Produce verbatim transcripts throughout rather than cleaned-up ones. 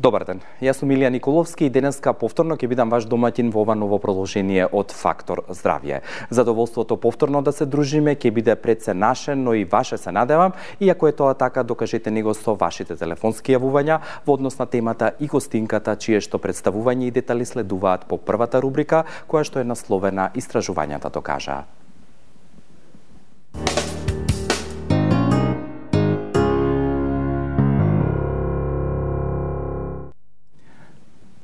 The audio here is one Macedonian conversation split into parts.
Добар ден, јас сум Илија Николовски и денеска повторно ќе бидам ваш домаќин во ова ново продолжение од Фактор Здравје. Задоволството повторно да се дружиме ќе биде пред се наше, но и ваше се надевам, и ако е тоа така, докажете него со вашите телефонски јавувања во однос на темата и гостинката, чие што представување и детали следуваат по првата рубрика, која што е насловена Истражувањата докажаа.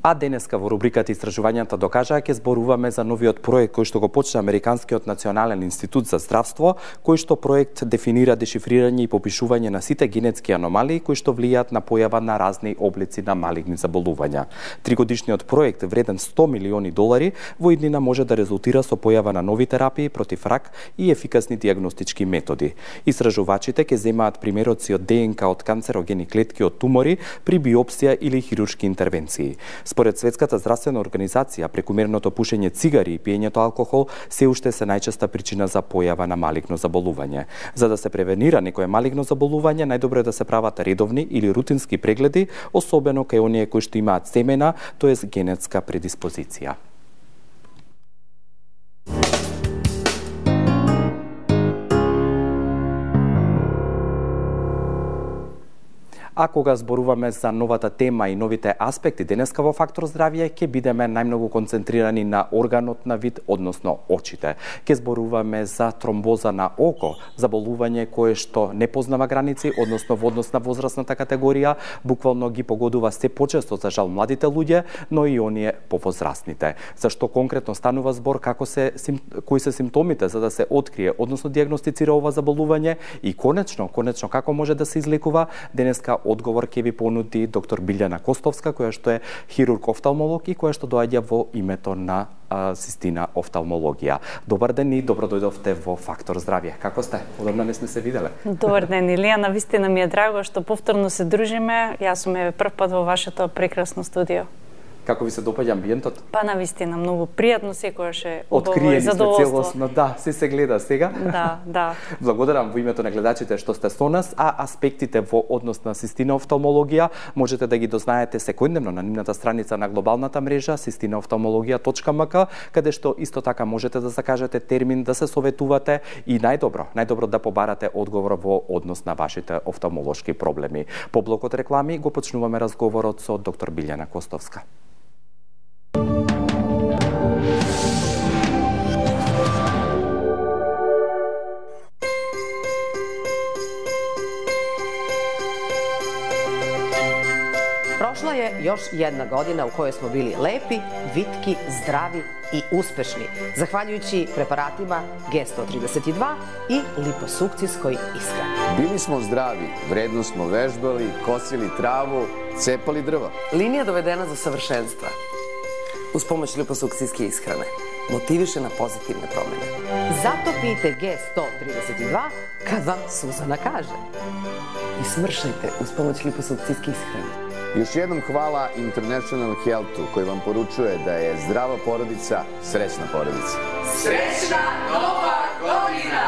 А денеска во рубриката Истражувањата докажаа ќе зборуваме за новиот проект кој што го почна Американскиот национален институт за здравство, кој што проект дефинира дешифрирање и попишување на сите генетски аномалии кои што влијаат на појава на разни облици на малигни заболувања. Тригодишниот проект вреден сто милиони долари во иднина може да резултира со појава на нови терапии против рак и ефикасни диагностички методи. Истражувачите ќе земаат примероци од ДНК од канцерогени клетки од тумори при биопсија или хируршки интервенции. Според Светската здравствена организација, прекумерното пушење цигари и пиењето алкохол се уште се најчеста причина за појава на малигно заболување. За да се превенира некое малигно заболување, најдобро е да се прават редовни или рутински прегледи, особено кај оние кои што имаат семена, тоест генетска предиспозиција. А кога зборуваме за новата тема и новите аспекти денеска во Фактор Здравје, ќе бидеме најмногу концентрирани на органот на вид, односно очите. Ќе зборуваме за тромбоза на око, заболување кое што не познава граници, односно во однос на возрастната категорија, буквално ги погодува се почесто за жал младите луѓе, но и оние повозрастните. Зашто конкретно станува збор, како се кои се симптомите за да се открие, односно диагностицира ова заболување и конечно, конечно како може да се излекува, денеска одговор ќе ви понуди доктор Билјана Костовска, која што е хирург-офталмолог и која што доаѓа во името на а, Систина офталмологија. Добар ден и добро дојдовте во Фактор Здравје. Како сте? Одамна не сме се виделе. Добар ден, Илија, навистина ми е драго што повторно се дружиме. Јас сум еве прв пат во вашето прекрасно студио. Како ви се допаѓа амбиентот? Па навистина многу пријатно, секогаш е откриени сме задоволство. целосно, да, се се гледа сега. Да, да. Благодарам во името на гледачите што сте со нас, а аспектите во однос на Систина офталмологија можете да ги дознаете секојдневно на нивната страница на глобалната мрежа систина офталмологија точка ем ка, каде што исто така можете да закажете термин, да се советувате и најдобро, најдобро да побарате одговор во однос на вашите офталмолошки проблеми. По блокот реклами го почнуваме разговорот со доктор Билјана Костовска. Прошла je još jedna godina u kojoj smo bili lepi, vitki, zdravi i uspešni, zahvaljujući preparatima G sto trideset dva i liposukcijskoj ishrani. Bili smo zdravi, vredno smo vežbali, kosili travu, cepali drva. Linija dovedena do savršenstva uz pomoć liposukcijske ishrane motiviše na pozitivne promene. Zato pijte G sto trideset dva kad vam Suzana kaže. I smršajte uz pomoć liposukcijske ishrane. Još jednom hvala International Healthu koji vam poručuje da je zdrava porodica srećna porodica. Srećna nova godina!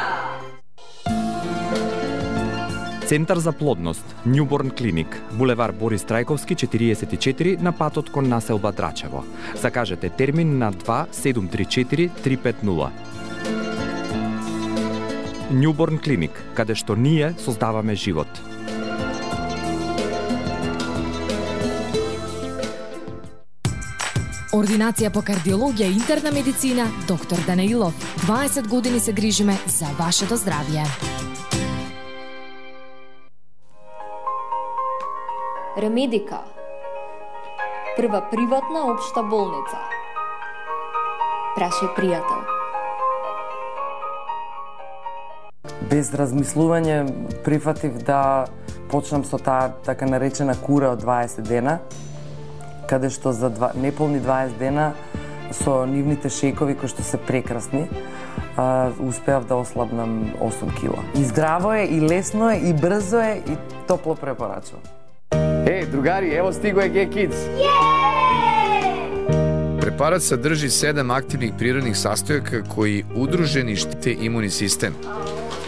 Центар за плодност, Newborn Clinic, булевар Борис Трајковски четириесет и четири на патот кон населба Драчево. Закажете термин на два седум три четири три пет нула. Newborn Clinic, каде што ние создаваме живот. Ординација по кардиологија и интерна медицина, доктор Данаилов. дваесет години се грижиме за вашето здравје. Ремедика, прва приватна општа болница. Прашај пријател. Без размислување прифатив да почнам со таа така наречена кура од дваесет дена, каде што за два, неполни дваесет дена со нивните шејкови кои што се прекрасни, а, успеав да ослабнам осум кила. И здраво е, и лесно е, и брзо е, и топло препорачувам. Ej, drugari, evo stigo je G-Kids. Preparat sadrži sedam aktivnih prirodnih sastojaka koji udruženi štite imunni sistem.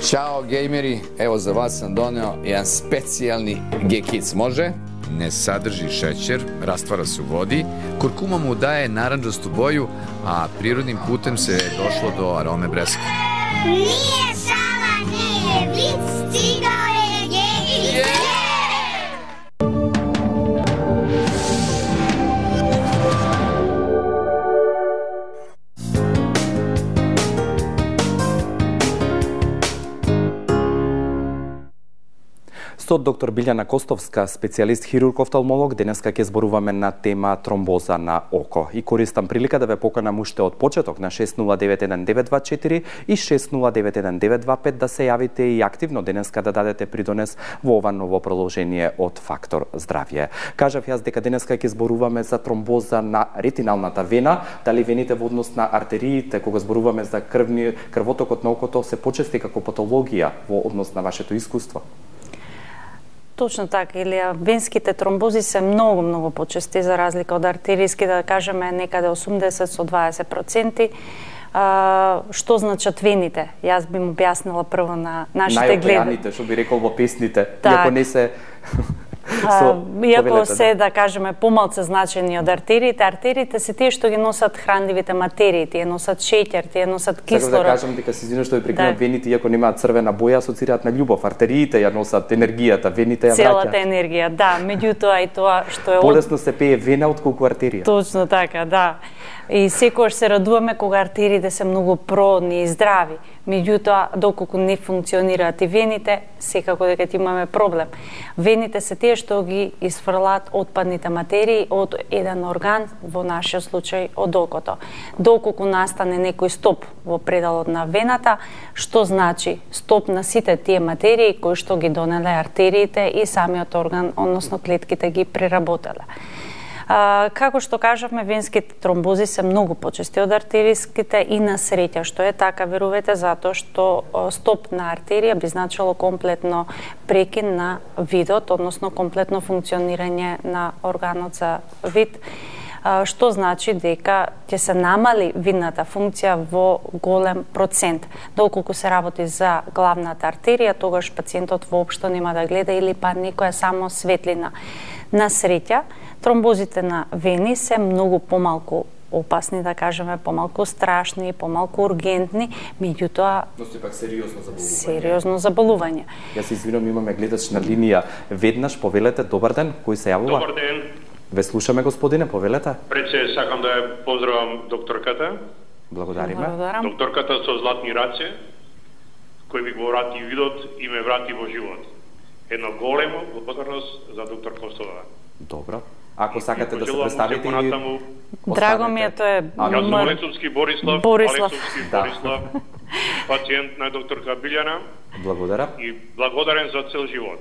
Ćao, gejmeri, evo za vas sam doneo jedan specijalni G-Kids, može? не saдрži šećer, rastvara se u vodi, kurkuma mu daje naranđastu boju, a prirodnim putem se došlo do arome breska. Nije šala, nije vic, stigao je genij. Со доктор Билјана Костовска, специјалист хирург-офталмолог, денеска ќе зборуваме на тема тромбоза на око. И користам прилика да ве поканам уште од почеток на шест нула девет еден девет два четири и шест нула девет еден девет два пет да се јавите и активно денеска да дадете придонес во ова ново продолжение од Фактор здравје. Кажав јас дека денеска ќе зборуваме за тромбоза на ретиналната вена, дали вените во однос на артериите, кога зборуваме за крвни крвотокот на окото се почести како патологија во однос на вашето искуство? Точно така, Илија, венските тромбози се многу, многу почести за разлика од артеријски, да кажеме некаде осумдесет со дваесет проценти. А, што значат вените? Јас би му објаснила прво на нашите гледачи. Најопреаните, што би рекол во песните, так. Иако не се... А, иако се, да кажеме, помалце значени од артериите, артериите се тие што ги носат хранливите материи, тие носат шеќер, тие носат кислород. Сакам да кажам дека се извинувам што ви прекинав, да. Вените иако немаат црвена боја, асоцираат на љубов, артериите ја носат енергијата, вените ја враќаат. Целата енергија, да, меѓутоа и тоа што е полесно се пее вена отколку артерија. Точно така, да. И секогаш се радуваме кога артериите се многу продни и здрави. Меѓутоа, доколку не функционираат и вените, секако дека ќе имаме проблем. Вените се тие што ги изфрлаат отпадните материи од еден орган, во нашиот случај од окото. Доколку настане некој стоп во предалот на вената, што значи стоп на сите тие материи кои што ги донеле артериите и самиот орган, односно клетките ги преработеле. А, како што кажавме, венските тромбози се многу почести од артериските и на среќа, што е така, верувате, затоа што стоп на артерија би значило комплетно прекин на видот, односно комплетно функционирање на органот за вид, а, што значи дека ќе се намали видната функција во голем процент. Доколку се работи за главната артерија, тогаш пациентот воопшто нема да гледа или па некоја само светлина. На среќа, тромбозите на вени се многу помалку опасни, да кажеме, помалку страшни, помалку ургентни, меѓутоа но сепак сериозно заболување. Сериозно заболување. Јас се извинувам, имаме гледач на линија. Веднаш повелете, добар ден, кој се јавува? Добар ден. Ве слушаме, господине, повелете. Пред се сакам да ја поздравам докторката. Благодариме. Благодарам. Докторката со златни раце, кој ми го врати видот и ме врати во живот. Едно големо благодарност за доктор Костова. Добро. Ако сакате да се представите или... Драго ми е, тоа е... Јас сум Алексовски Борислав, Борислав. Алексовски Борислав, пациент на докторка Билјана. Благодарам. И благодарен за цел живот.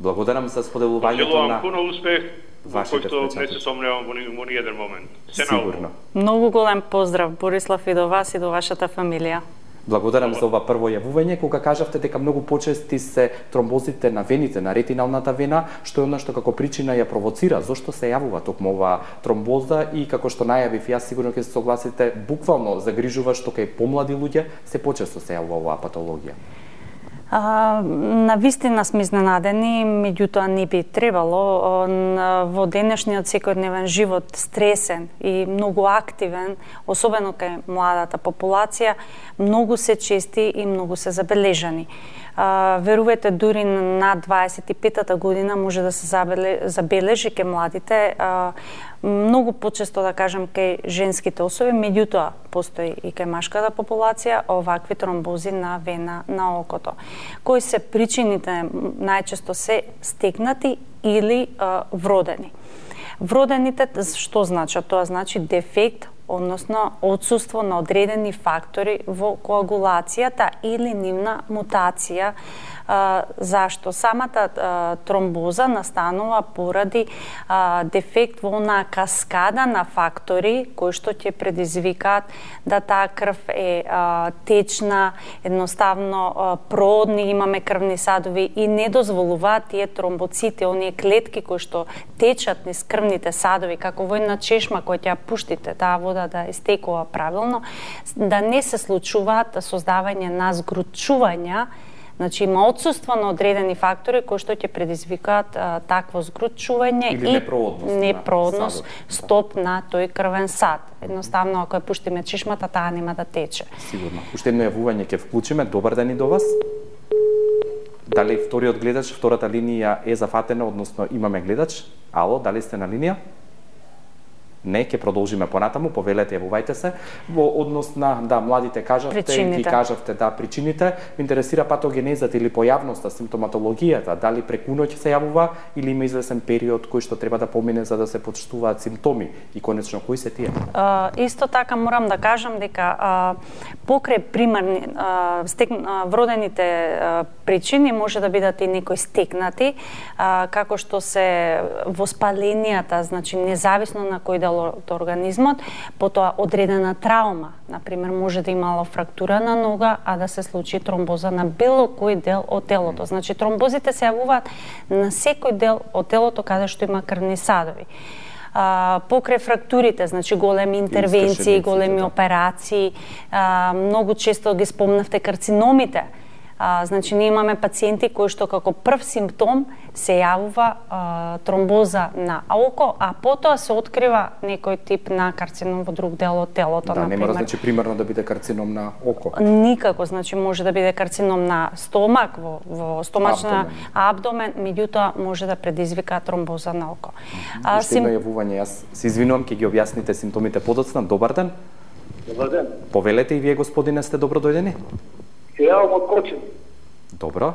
Благодарам за споделувањето на... Желувам пуно успех, вашите кој што не се сомневам во ни еден момент. Се Сигурно. Многу голем поздрав, Борислав, и до вас и до вашата фамилија. Благодарам за ова прво јавување, кога кажавте дека многу почести се тромбозите на вените, на ретиналната вена, што е она што како причина ја провоцира. Зошто се јавува токму оваа тромбоза и како што најавив, јас сигурно ќе се согласите, буквално загрижува што кај помлади луѓе се почесто се јавува оваа патологија. А, на вистина сме изненадени, меѓутоа не би требало. Во денешниот секојдневен живот, стресен и многу активен, особено кај младата популација, многу се чести и многу се забележани. А, верувате, дури на дваесет и петата година може да се забележи кај младите, а, многу почесто, да кажем, кај женските особи, меѓутоа постои и кај машката популација овакви тромбози на вена на окото. Кои се причините? Најчесто се стекнати или а, вродени. Вродените што значат? Тоа значи дефект, односно отсуство на одредени фактори во коагулацијата или нивна мутација. А, зашто? Самата а, тромбоза настанува поради а, дефект во онаа каскада на фактори кои што ќе предизвикаат да таа крв е а, течна, едноставно а, продни, имаме крвни садови и не дозволуваат тие тромбоцити, оние клетки кои што течат низ крвните садови, како во една чешма која ќе ја пуштите, таа вода да истекува правилно, да не се случуваат создавање на згручувања Значи има отсуство на одредени фактори кои што ќе предизвикаат а, такво згручување или непроодност, непроодност стоп на тој крвен сад. Едноставно ако ја пуштиме чишмата, таа нема да тече. Сигурно. Уште едно јавување ќе вклучиме. Добар ден и до вас. Дали вториот гледач, втората линија е зафатена, односно имаме гледач? Ало, дали сте на линија? Не, ќе продолжиме понатаму, повелете, јавувајте се. Во однос на, да, младите кажавте, причините. ги кажавте, да, причините. Ме интересира патогенезата или појавноста, симптоматологијата, дали преку ноќ се јавува или има извесен период кој што треба да помине за да се почувствуваат симптоми и конечно кои се тие? Uh, исто така морам да кажам дека uh, покрај примарни uh, стек, uh, вродените uh, причини може да бидат и некои стекнати, uh, како што се воспаленијата, значи независно на кој дел од организмот, потоа одредена траума, например, може да имало фрактура на нога, а да се случи тромбоза на било кој дел од телото. Значи тромбозите се јавуваат на секој дел од телото каде што има крвни садови. А, покрај фрактурите, значи големи интервенции, големи операции, а, многу често ги спомнавте карциномите. А, значи, ние имаме пациенти кои што како прв симптом се јавува а, тромбоза на око, а потоа се открива некој тип на карцином во друг дел од телото, да, например. не мора значи примерно да биде карцином на око. Никако, значи може да биде карцином на стомак, во, во стомачна абдомен, меѓутоа може да предизвика тромбоза на око. А, Уште едно јавување, јас се извинувам, ќе ги објасните симптомите подоцна. Добар ден. Добар ден. Повелете и вие, господине, сте добро дојдени. Се јавам од Кочен. Добро.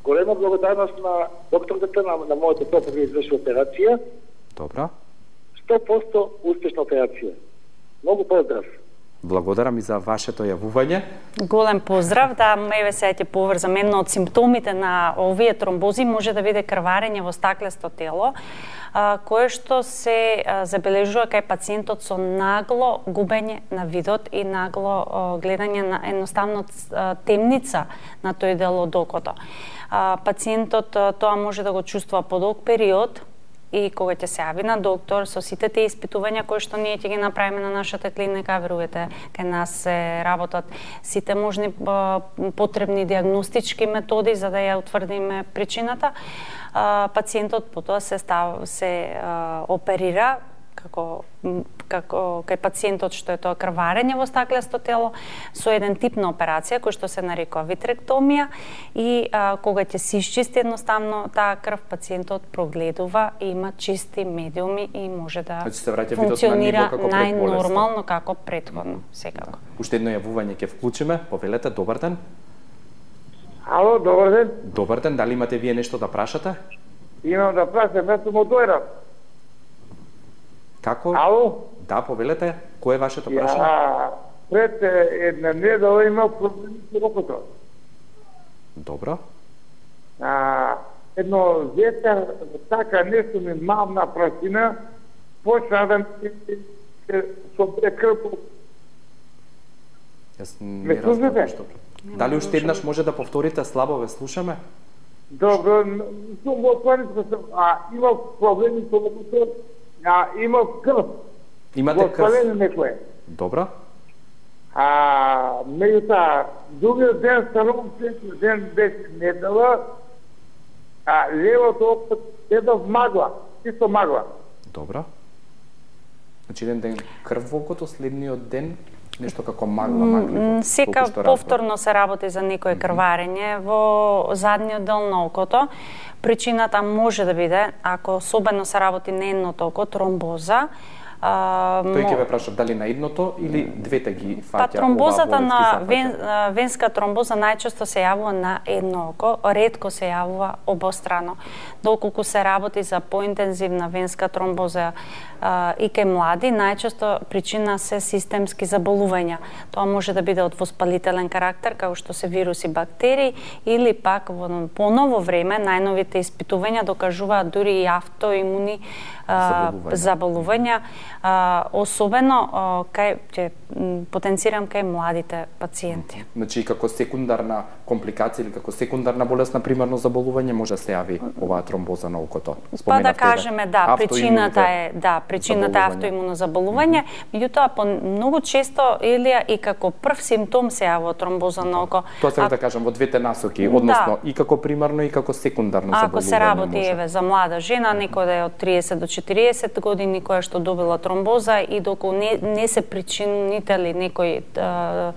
Голема благодарност на докторката на, на мојата попа да изврши операција. Добро. сто проценти успешна операција. Многу поздрав. Благодарам и за вашето јавување. Голем поздрав, да, еве сега ќе поврзам едно од симптомите на овие тромбози може да биде крварење во стаклесто тело, а, кое што се а, забележува кај пациентот со нагло губење на видот и нагло а, гледање на едноставно а, темница на тој дел од окото. А, пациентот а, тоа може да го чувствува по долг период, и кога ќе се јави на доктор со сите тие испитувања кои што ние ќе ги направиме на нашата клиника, верувате, кај нас се работат сите можни потребни диагностички методи за да ја утврдиме причината, пациентот потоа се став, се оперира како како кај пациентот што е тоа крварење во стаклесто тело со еден тип на операција кој што се нарекува витректомија и а, кога ќе се исчисти едноставно таа крв, пациентот прогледува и има чисти медиуми и може да значи, функционира најнормално како претходно, секако. Да. Уште едно јавување ќе вклучиме. Повелете, добар ден. Ало, добар ден. Добар ден, дали имате вие нешто да прашате? Имам да прашам, јас сум од Дојрав. Како? Ало? Да, повелете. Кој е вашето прашање? Ја, пред една недела имав проблеми со окото. Добро. А, едно ветер, така нешто ми мавна прашина, почна да ми со прекрп. Јас не разбирам што. Дали уште еднаш може да повторите, слабо ве слушаме? Добро, сум во Планинско, а имав проблеми со окото. А, имав крв. Имате крв? Некој. Добро. А, меѓутоа, другиот ден станувам следниот ден беше недела, а левото око гледав магла, чисто магла. Добро. Значи еден ден крв во окото, следниот ден нешто како магла, магли. Сека повторно се работи за некое крварење во задниот дел на окото. Причината може да биде, ако особено се работи на едното око, тромбоза. А, Тој ќе ве прашав дали на едното или двете ги фаќа. Па тромбозата на вен, венска тромбоза најчесто се јавува на едно око, ретко се јавува обострано. Доколку се работи за поинтензивна венска тромбоза а, и кај млади, најчесто причина се системски заболувања. Тоа може да биде од воспалителен карактер, како што се вируси, бактерии, или пак во поново време најновите испитувања докажуваат дури и автоимуни а, заболувања, а, особено а, кај ќе потенцирам кај младите пациенти. Значи како секундарна компликација или како секундарна болест на примарно заболување може да се јави оваа тромбоза на окото. Па да кажеме да, причината е да, причината е автоимуно заболување, меѓутоа по многу често или и како прв симптом се јавува тромбоза на око. Тоа сакам да кажам во двете насоки, односно и како примарно и како секундарно заболување. Ако се работи еве за млада жена, некоја да е од триесет до четириесет години која што добила тромбоза и доколку не, не се причинители некои а,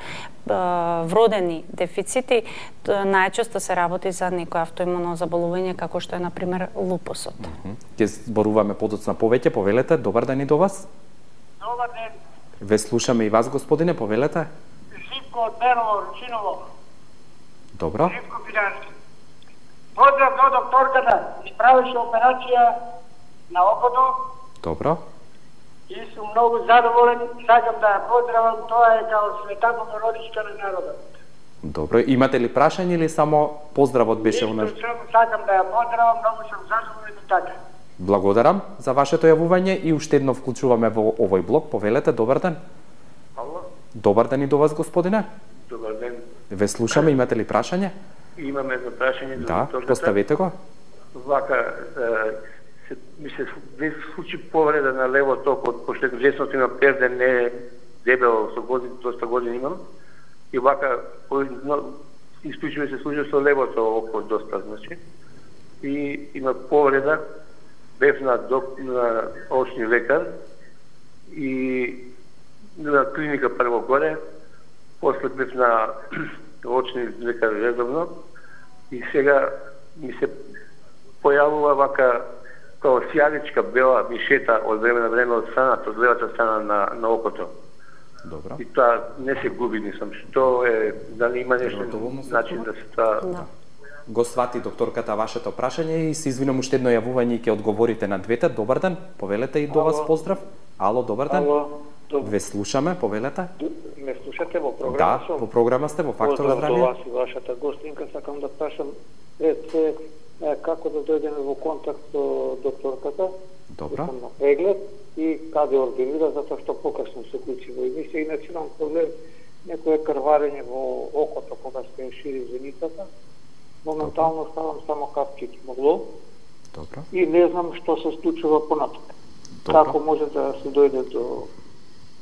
а, вродени дефицити, најчесто се работи за некој автоимуно заболување како што е на пример лупусот. Ќе зборуваме подоцна повеќе, повелете. Добар ден и до вас. Добар ден. Ве слушаме и вас, господине, повелете. Живко од Берово, Ручиново. Добро. Живко Пирански. Поздрав до докторката, исправише операција на окото. Добро. И сум многу задоволен, сакам да ја поздравам, тоа е као света богородичка на народот. Добро, имате ли прашање или само поздравот беше у нас? Исто сум, сакам да ја поздравам, многу сум задоволен и така. Благодарам за вашето јавување и уште едно вклучуваме во овој блок. Повелете, добар ден. Ало? Добар ден и до вас, господине. Добар ден. Ве слушаме, имате ли прашање? Имаме едно прашање до Да, поставете го. Вака, се, ми се случи повреда на левот око, пошто десното има перде, не е дебело, со години, доста години имам. И вака, но, исклучиво се случи со левото око доста, значи. И има повреда, бев на, док, на очни лекар и на клиника прво горе, после бев на очни лекар редовно и сега ми се појавува вака као сјаличка бела мишета од време на време од страната, од левата страна на, на окото. Добро. И тоа не се губи, нисам. Што е, дали има нешто начин да се тоа... Да. Го свати докторката вашето прашање и се извинам уште едно јавување и ќе одговорите на двете. Добар ден, повелете и до вас поздрав. Ало, добар ден. Ало, добар. Ве слушаме, повелете. Ме слушате во програма? Да, во програма сте, во Фактор здравје. здравје. Поздрав до вас и вашата гостинка. Сакам да прашам пред се како да дојдеме во контакт со докторката. Добро. Сам на преглед и каде ординира, затоа што покасно се уклучи во емисија. Иначе имам проблем, некое крварење во окото кога се шири зеницата. Моментално ставам само капчици могло. Добро. И не знам што се случува понатаму. Како може да се дојде до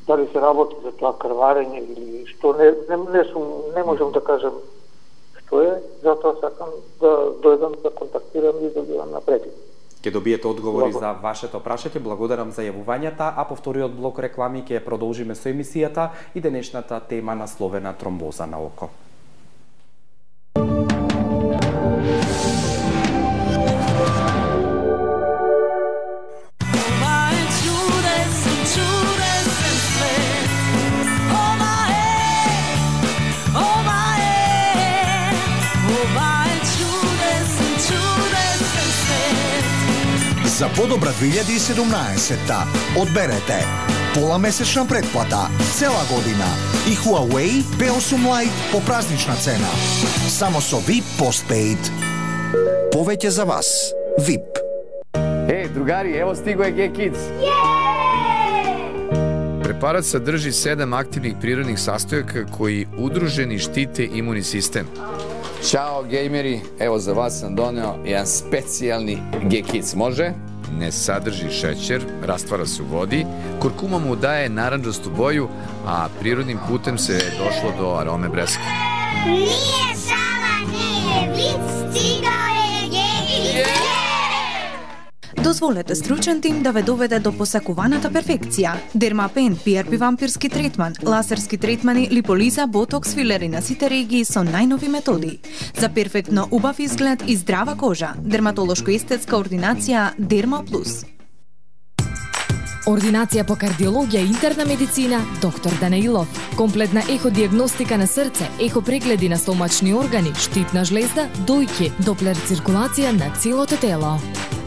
дали се работи за тоа крварење или што не не не, сум, не можам да кажам што е, затоа сакам да дојдам да контактирам и да бидам напред. Ќе добиете одговори за вашето прашање. Благодарам за јавувањата, а по вториот блок реклами ќе продолжиме со емисијата и денешната тема насловена тромбоза на око. За подобра две илјади и седумнаесетта одберете пола месечна претплата цела година и Huawei пе осум Lite по празнична цена. Само со ви ай пи Postpaid. Повеќе за вас. ви ай пи. Еј, другари, ево стиго е G-Kids. Препарат садржи седам активних природних састојака кои удружени штите имуни систем. Ćao gejmeri, evo za vas sam doneo jedan specijalni G-Kids, može? Не садржи шеćer, расtvara се у води, kurkuma mu daje naranđastu boju, a prirodnim putem se došlo do arome breske. Nije šala, nije vic, stigao je G-Kids. Дозволете стручен тим да ве доведе до посакуваната перфекција. Дермапен, пи ар пи вампирски третман, лазерски третмани, липолиза, ботокс, филери на сите регии со најнови методи. За перфектно убав изглед и здрава кожа. Дерматолошко-естетска ординација Дерма Плюс. Ординација по кардиологија и интерна медицина доктор Данаилов. Комплетна еходиагностика на срце, ехопрегледи на стомачни органи, штитна жлезда, дојки, доплер циркулација на целото тело.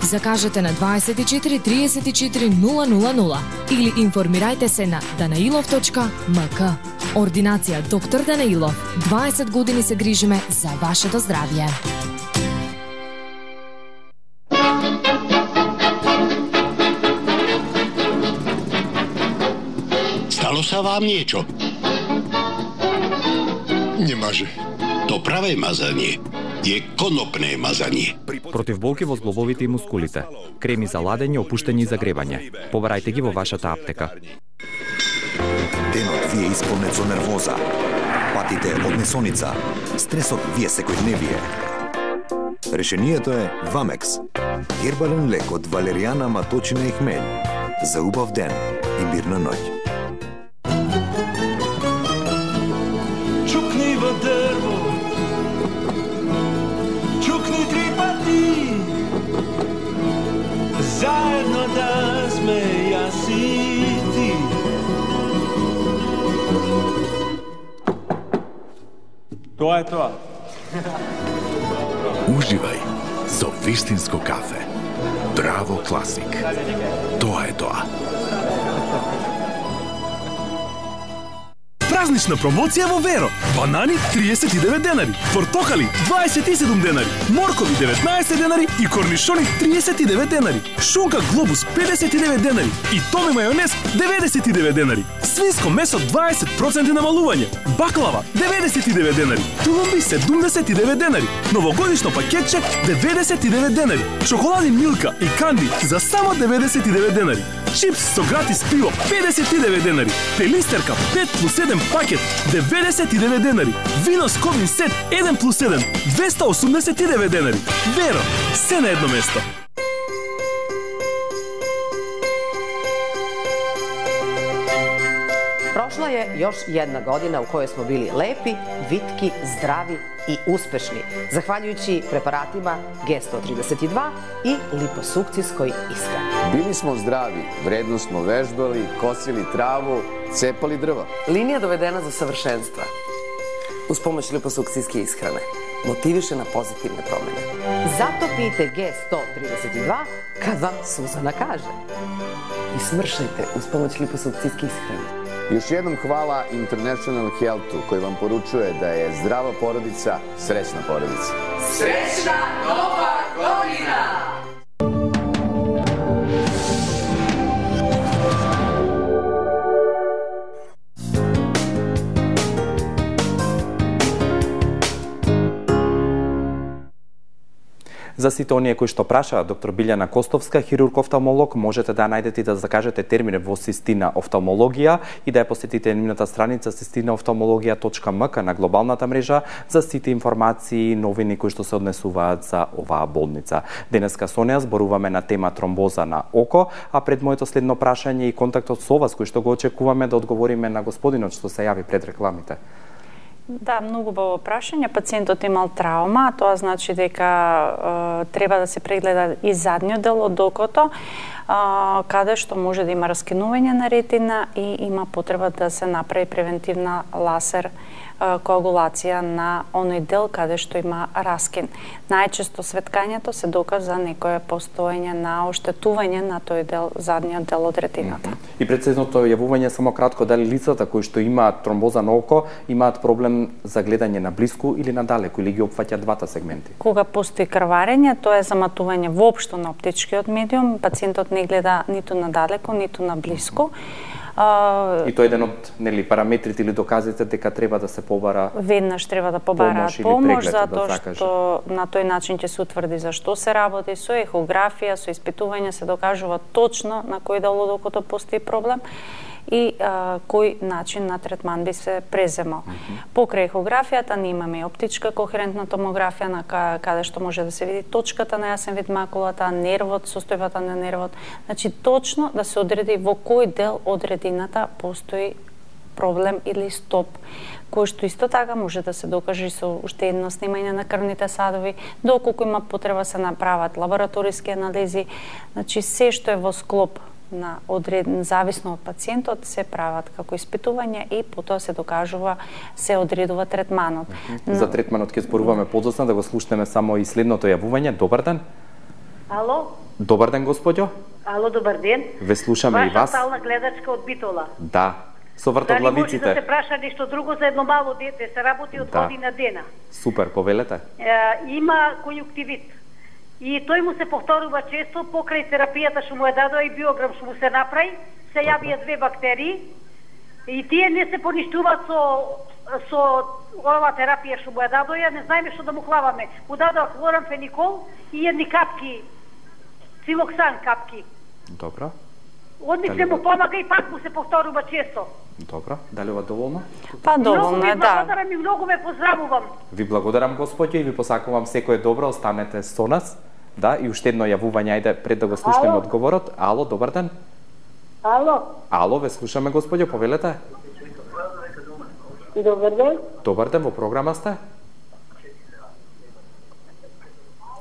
Закажете на дваесет и четири триесет и четири нула нула нула или информирајте се на данаилов точка ем ка. Ординација доктор Данаилов. дваесет години се грижиме за вашето здравје. Dalo sa vám niečo? Немаже. То праве мазање е конопне мазање. Против болки во зглобовите и мускулите. Креми за ладење, опуштени за гребање. Побарајте ги во вашата аптека. Денот ви е исполнет со нервоза. Патите од несоница. Стресот ви е секојдневие. Решението е Вамекс. Хербален лек од валеријана, маточина и хмелј. За убав ден и мирна ноќ. Чукни во дрво, чукни три пати, заедно да сме јас и ти. Тоа е тоа. Уживај со вистинско кафе. Драво Класик. Тоа е тоа. Празнична промоција во Веро. Банани триесет и девет денари, портокали дваесет и седум денари, моркови деветнаесет денари и корнишони триесет и девет денари. Шунка Глобус педесет и девет денари и томе мајонез деветдесет и девет денари. Свинско месо дваесет проценти намалување. Баклава деветдесет и девет денари. Тулумби седумдесет и девет денари. Новогодишно пакетче деветдесет и девет денари. Чоколади Милка и Канди за само деветдесет и девет денари. Чипс со гратис пиво педесет и девет денари. Пелистерка пет плюс еден пакет деветдесет и девет денари. Вино Сковин сет еден плюс еден двеста осумдесет и девет денари. Веро, се на едно место. Prošla je još jedna godina u kojoj smo bili lepi, vitki, zdravi i uspešni, zahvaljujući preparatima G sto trideset dva i liposukcijskoj ishrani. Bili smo zdravi, vredno smo vežbali, kosili travu, cepali drva. Linija dovedena do savršenstva. Uz pomoć liposukcijske ishrane. Motiviše na pozitivne promene. Zato pijte G sto trideset dva kad vam Suzana kaže. I smršajte uz pomoć liposukcijske ishrane. Još jednom hvala International Healthu koji vam poručuje da je zdrava porodica srećna porodica. Srećna Nova godina! За сите оние кои што прашаат доктор Билјана Костовска, хирург-офталмолог, можете да најдете и да закажете термин во Систина офталмологија и да ја посетите нивната страница систина офталмологија точка ем ка на глобалната мрежа за сите информации и новини кои што се однесуваат за оваа болница. Денеска со неа зборуваме на тема тромбоза на око, а пред моето следно прашање и контактот со вас кој што го очекуваме да одговориме на господинот што се јави пред рекламите. Да, многу убаво прашање. Пациентот имал траума, тоа значи дека е, треба да се прегледа и задниот дел од окото, е, каде што може да има раскинување на ретина и има потреба да се направи превентивна лазер коагулација на оној дел каде што има раскин. Најчесто светкањето се доказ за некое постоење на оштетување на тој дел, задниот дел од ретината. Mm -hmm. И председното јавување само кратко, дали лицата кои што имаат тромбоза на око имаат проблем за гледање на блиску или на далеку или ги опфаќа двата сегменти? Кога постои крварење, тоа е заматување воопшто на оптичкиот медиум, пациентот не гледа ниту на далеку, ниту на блиску. Uh, и тоа е еден од нели параметрите или доказите дека треба да се побара. Веднаш треба да побараат помош, помош затоа да што на тој начин ќе се утврди за што се работи, со ехографија, со испитување се докажува точно на кој дел од окото постои проблем и а, кој начин на третман би се преземал. Mm -hmm. Покрај ехографијата ние имаме оптичка кохерентна томографија на каде што може да се види точката на јасен вид макулата, нервот, состојбата на нервот. Значи точно да се одреди во кој дел од ретината постои проблем или стоп, кој што исто така може да се докаже со уште едно снимање на крвните садови, доколку има потреба се направат лабораториски анализи, значи се што е во склоп на одреден, зависно од пациентот, се прават како испитување и потоа се докажува, се одредува третманот. Но... За третманот ќе зборуваме подоцна, да го слушнеме само и следното јавување. Добар ден. Ало? Добар ден, господјо. Ало, добар ден. Ве слушаме Ваша и вас. Ваша стална гледачка од Битола. Да. Со вртоглавиците. Дали може да се праша нешто друго за едно мало дете, се работи од да. година дена. Супер, повелете. Е, има конјуктивит. И тој му се повторува често покрај терапијата што му е дадоа и биограм што му се направи, се јавија две бактерии, И тие не се поништуваат со со ова терапија што му ја дадоја, не знаеме што да му хлаваме. Му дадоа хлорамфеникол и едни капки, цилоксан капки. Добро. Одник се му помага и пак му се повторува често. Добро, дали ова доволно? Па доволно е, да. Благодарам и многу ве поздравувам. Ви благодарам, господјо, и ви посакувам секое добро, останете со нас. Да, и уште едно јавување, ајде пред да го слушнеме одговорот. Ало, добар ден. Ало. Ало, ве слушаме, господјо, повелете. Добар ден. Добар ден, во програма сте.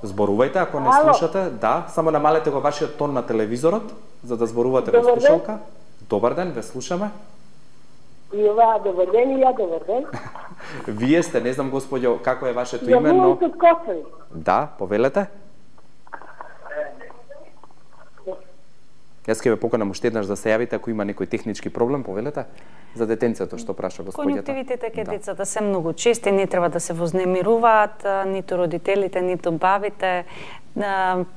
Зборувајте, ако не Ало. слушате. Да, само намалете го вашиот тон на телевизорот, за да зборувате без Добар ден. слушалка. Добар ден, ве слушаме. И ова, добар ден, и ја добар ден. Вие сте, не знам, господјо, како е вашето име, но... Јавувам од Косови. Да, повелете. Јас ќе ве поканам уште еднаш да се јавите ако има некој технички проблем, повелете. За детенцето што праша господјата. Конјуктивитите кај Да. децата се многу чести, не треба да се вознемируваат, ниту родителите, ниту бабите.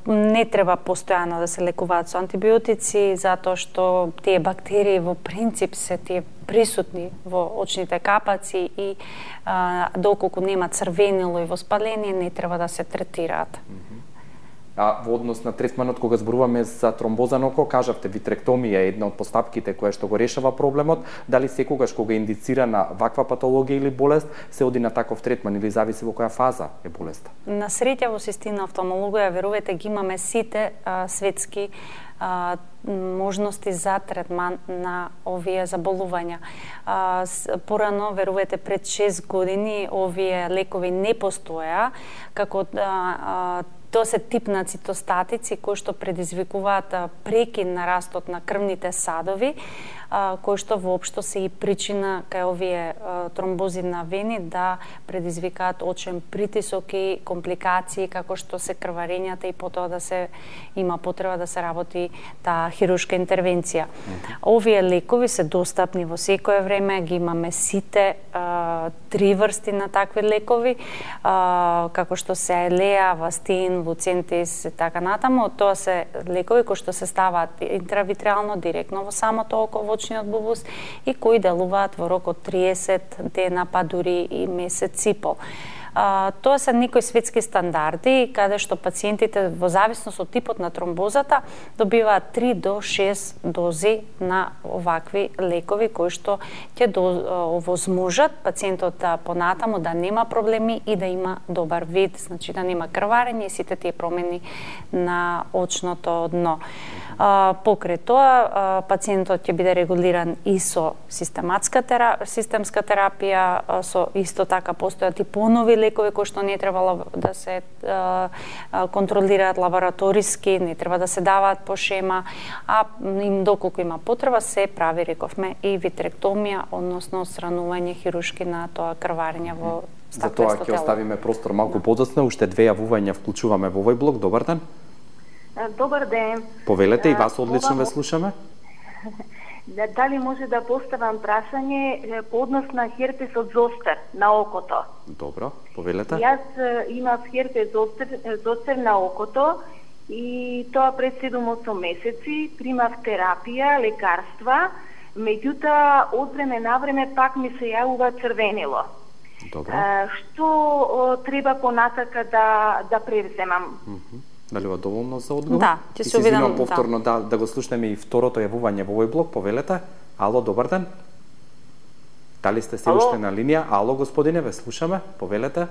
Не треба постојано да се лекуваат со антибиотици, затоа што тие бактерии во принцип се тие присутни во очните капаци и а, доколку нема црвенило и воспаление, не треба да се третираат. А во однос на третманот кога зборуваме за тромбоза на око, кажавте витректомија е една од постапките која што го решава проблемот. Дали секогаш кога е индицирана ваква патологија или болест, се оди на таков третман или зависи во која фаза е болеста? На среќа во систина офталмологија, верувате, ги имаме сите а, светски а, можности за третман на овие заболувања. А, с, порано, верувате, пред шест години овие лекови не постоја, како а, а, тоа се тип на цитостатици кои што предизвикуваат прекин на растот на крвните садови, кои што воопшто се и причина кај овие тромбози на вени да предизвикаат очен притисок и компликации како што се крварењата и потоа да се има потреба да се работи таа хируршка интервенција. Овие лекови се достапни во секое време, ги имаме сите а, три врсти на такви лекови, а, како што се Елеа, Вастин, Луцентис и така натаму. Тоа се лекови кои што се ставаат интравитреално директно во самото око, во очниот бубус, и кои делуваат во рок од триесет дена, па дури и месец и пол. А, тоа се некои светски стандарди, каде што пациентите во зависност од типот на тромбозата добиваат три до шест дози на овакви лекови кои што ќе овозможат пациентот понатаму да нема проблеми и да има добар вид, значи да нема крварење и сите тие промени на очното дно. А, покрај тоа, а, пациентот ќе биде регулиран и со систематска терапија, системска терапија, а, со исто така постојат и понови лекови кои што не требало да се а, а, контролираат лабораториски, не треба да се даваат по шема, а им доколку има потреба се прави, рековме, и витректомија, односно отстранување хируршки на тоа крварење во стаклесто тело. За тоа ќе оставиме простор малку подоцна, уште две јавувања вклучуваме во овој блок. Добар ден. Добар ден. Повелете, и вас одлично ве слушаме. Дали може да поставам прашање по однос на херпесот зостер на окото? Добро, повелете. Јас имав херпес зостер, зостер на окото и тоа пред седум-осум месеци примав терапија, лекарства, меѓутоа од време на време пак ми се јавува црвенило. Добро. А, што треба понатака да да превземам? Mm -hmm. Дали ова доволно за одговор? Да, ќе се обидам повторно да. да да го слушнеме и второто јавување во овој блок. Повелете. Ало, добар ден. Дали сте се уште на линија? Ало, господине, ве слушаме. Повелете.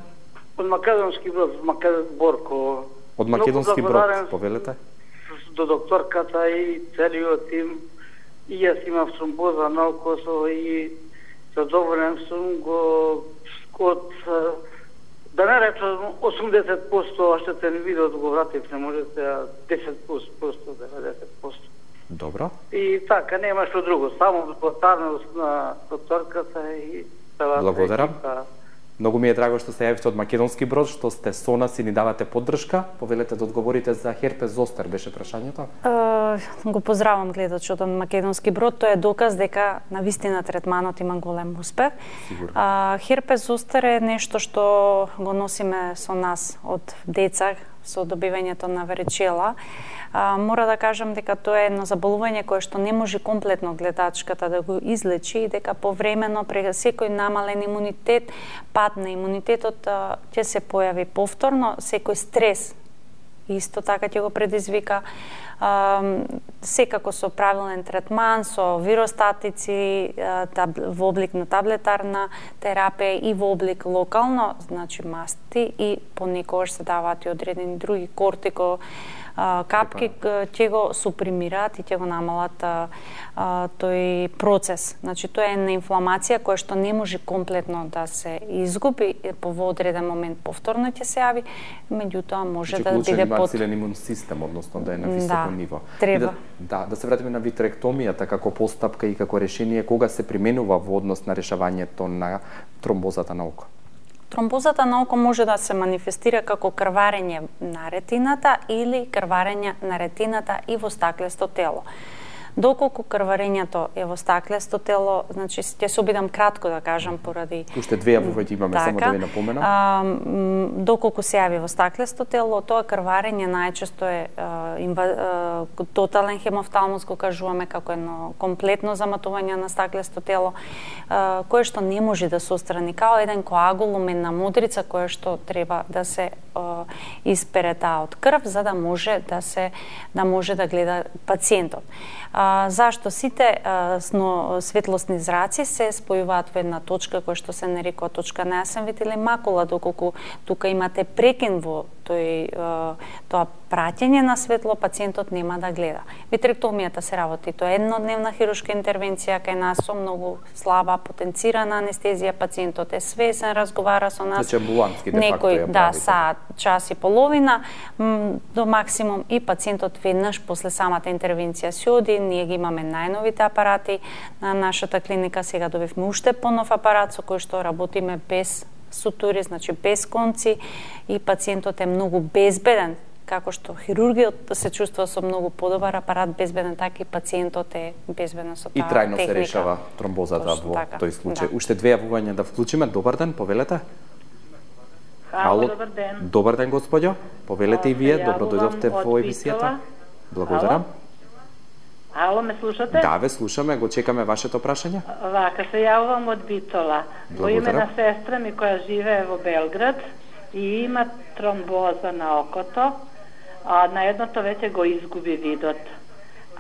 Од Македонски Брод, Македонски Борко. Од Македонски Брод, повелете. До докторката и целиот тим. И јас имав тромбоза на окото и задоволен сум го од, да не речам осумдесет проценти оштетен видот го вратив, не можете десет проценти, деветдесет проценти. Добро. И така, нема што друго, само благодарност на докторката и целата Благодарам. екипа. Многу ми е драго што се јавите од Македонски Брод, што сте со нас и ни давате поддршка. Повелете да одговорите за херпес зостер, беше прашањето? Е, го поздравам гледачот од Македонски Брод, тоа е доказ дека на вистина третманот има голем успех. А, херпес зостер е нешто што го носиме со нас од деца, со добивањето на варичела. А, мора да кажам дека тоа е едно заболување кое што не може комплетно гледачката да го излечи и дека повремено прега секој намален имунитет, пад на имунитетот ќе се појави повторно, секој стрес исто така ќе го предизвика, а, секако со правилен третман, со виростатици, а, таб, во облик на таблетарна терапија и во облик локално, значи масти, и понекогаш се даваат и одредени други кортико а, капки, ќе го супримираат и ќе го намалат а, а, тој процес. Значи тоа е една инфламација која што не може комплетно да се изгуби, по одреден момент повторно ќе се јави, меѓутоа може значи, да биде под силен имун систем, односно да е на високо да, ниво. Треба. Да, да, да се вратиме на витректомијата како постапка и како решение, кога се применува во однос на решавањето на тромбозата на око? Тромбозата на око може да се манифестира како крварење на ретината или крварење на ретината и во стаклесто тело. Доколку крварењето е во стаклесто тело, значи ќе се обидам кратко да кажам поради уште две јавувања имаме, така, само да ви напоменам. А, доколку се јави во стаклесто тело, тоа крварење најчесто е а, инва, а, тотален хемофталмус, го кажуваме како едно комплетно заматување на стаклесто тело, а, кое што не може да се острани, као еден коагулум, една мудрица која што треба да се а, испере таа од крв за да може да се да може да гледа пациентот. А, зашто сите а, сно, светлосни зраци се спојуваат во една точка која што се нарекува точка на јасен вид или макула, доколку тука имате прекин во тој, а, тоа праќење на светло, пациентот нема да гледа. Витректомијата се работи, тоа е еднодневна хируршка интервенција кај нас со многу слаба потенцирана анестезија, пациентот е свесен, разговара со нас. Значи амбулантски де факто некој, ја да, правите. саат, час и половина до максимум и пациентот веднаш после самата интервенција си оди. Ние ги имаме најновите апарати на нашата клиника, сега добивме уште понов апарат со кој што работиме без сутури, значи без конци, и пациентот е многу безбеден. Како што хирургиот се чувствува со многу подобар апарат, безбеден, така и пациентот е безбеден со таа техника. И трајно техника. се решава тромбозата Точно во така, тој случај. да. Уште две јавувања да вклучиме. Добар ден, повелете. Ало, добар ден. Добар ден, господјо. Повелете и вие, добро дојдовте во емисијата. Благодарам. Ало, ме слушате? Да, ве слушаме, го чекаме вашето прашање. Вака, се јавувам од Битола. Во име на сестра ми која живее во Белград и има тромбоза на окото, а на едното веќе го изгуби видот.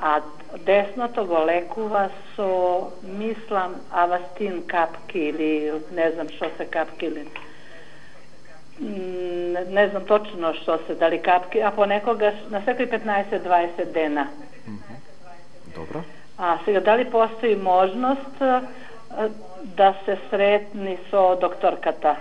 А десното го лекува со, мислам, авастин капки или не знам што се капки или не знам точно што се, дали капки, а понекогаш на секој петнаесет до дваесет дена. Добро. А сега дали постои можност а, да се сретни со докторката?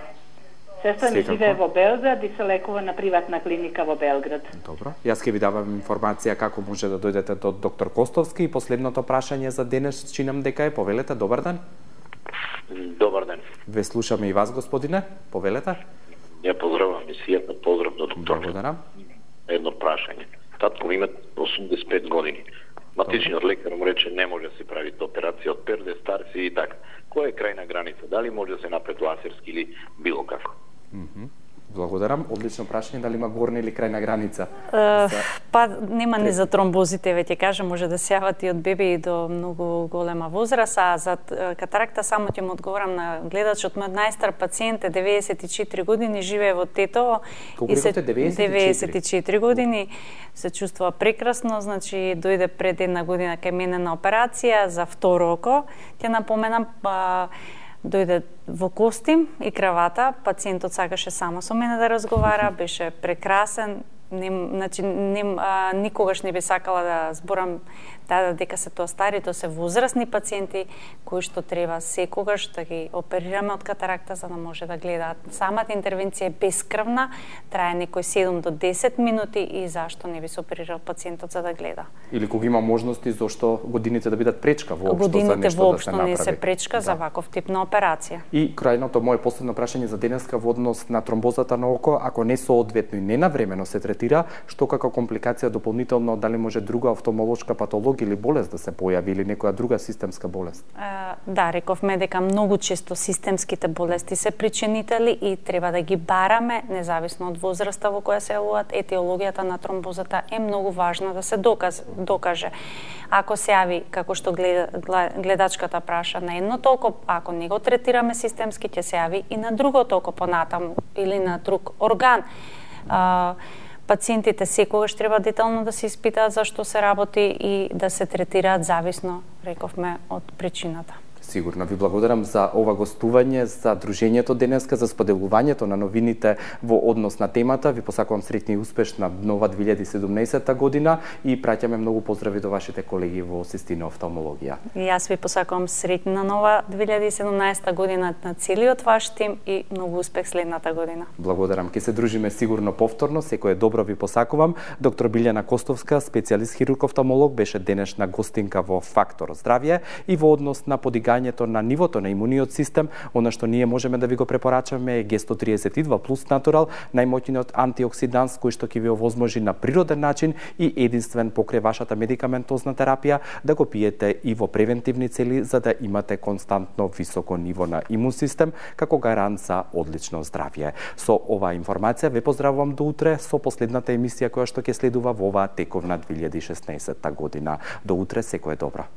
Сестра ми живее во Белград и се лекува на приватна клиника во Белград. Добро. Јас ќе ви давам информација како може да дојдете до доктор Костовски. И последното прашање за денес чинам дека е, повелете, добар ден. Добар ден. Ве слушаме и вас, господине. Повелете. Ја поздравам емисијата, поздрав до доктор. Благодарам. Едно прашање. Татко ми има осумдесет и пет години. Матичниот лекар му рече не може да се прави операција од перде, стар си и така. Која е крајна граница? Дали може да се направи лазерски или било како? Mm -hmm. Благодарам. Одлично прашање, дали има горна или крајна граница? Uh, за... Па нема ни за тромбозите, веќе кажа, може да се јават и од беби и до многу голема возраст, а за катаракта само ќе му одговорам на гледачот. Мојот најстар пациент е деветдесет и четири години, живее во Тетово. Колку рекоте? деветдесет и четири години, се чувствува прекрасно, значи дојде пред една година кај мене на операција за второ око. Ќе напоменам, па дојде во костим и кравата, пациентот сакаше само со мене да разговара, беше прекрасен, не, значи, не, а, никогаш не би сакала да зборам да, дека се тоа стари, тоа се возрастни пациенти кои што треба секогаш да ги оперираме од катаракта за да може да гледаат. Самата интервенција е бескрвна, трае некои седум до десет минути и зашто не би се оперирал пациентот за да гледа. Или кога има можности зошто годините да бидат пречка воопшто годините за нешто воопшто да се направи. не се пречка да. за ваков тип на операција. И крајното мое последно прашање за денеска во однос на тромбозата на око, ако не соодветно и не навремено се третира третира, што како компликација дополнително дали може друга офталмолошка патологија или болест да се појави или некоја друга системска болест? Да, рековме дека многу често системските болести се причинители и треба да ги бараме независно од возраста во која се јавуваат. Етиологијата на тромбозата е многу важна да се доказ, докаже. Ако се јави, како што гледачката праша, на едно толко, ако не го третираме системски, ќе се јави и на друго толко понатаму или на друг орган. А, пациентите секогаш треба детално да се испитаат за што се работи и да се третираат зависно, рековме, од причината. Сигурно ви благодарам за ова гостување, за дружењето денеска, за споделувањето на новините во однос на темата. Ви посакувам среќна и успешна нова две илјади и седумнаесета година и праќаме многу поздрави до вашите колеги во Систина офталмологија. И јас ви посакувам среќна нова две илјади и седумнаесета година на целиот ваш тим и многу успех следната година. Благодарам. Ке се дружиме сигурно повторно. Секое добро ви посакувам. Доктор Билјана Костовска, специјалист хирург офталмолог, беше денешна гостинка во Фактор здравје и во однос на подигање на нивото на имуниот систем, она што ние можеме да ви го препорачаме е Г сто триесет и два плюс Натурал, најмоќниот антиоксиданс кој што ќе ви овозможи на природен начин и единствен покрај вашата медикаментозна терапија да го пиете и во превентивни цели за да имате константно високо ниво на имун систем како гарант за одлично здравје. Со оваа информација ве поздравувам до утре со последната емисија која што ќе следува во оваа тековна две илјади и шеснаесета година. До утре, секое добро.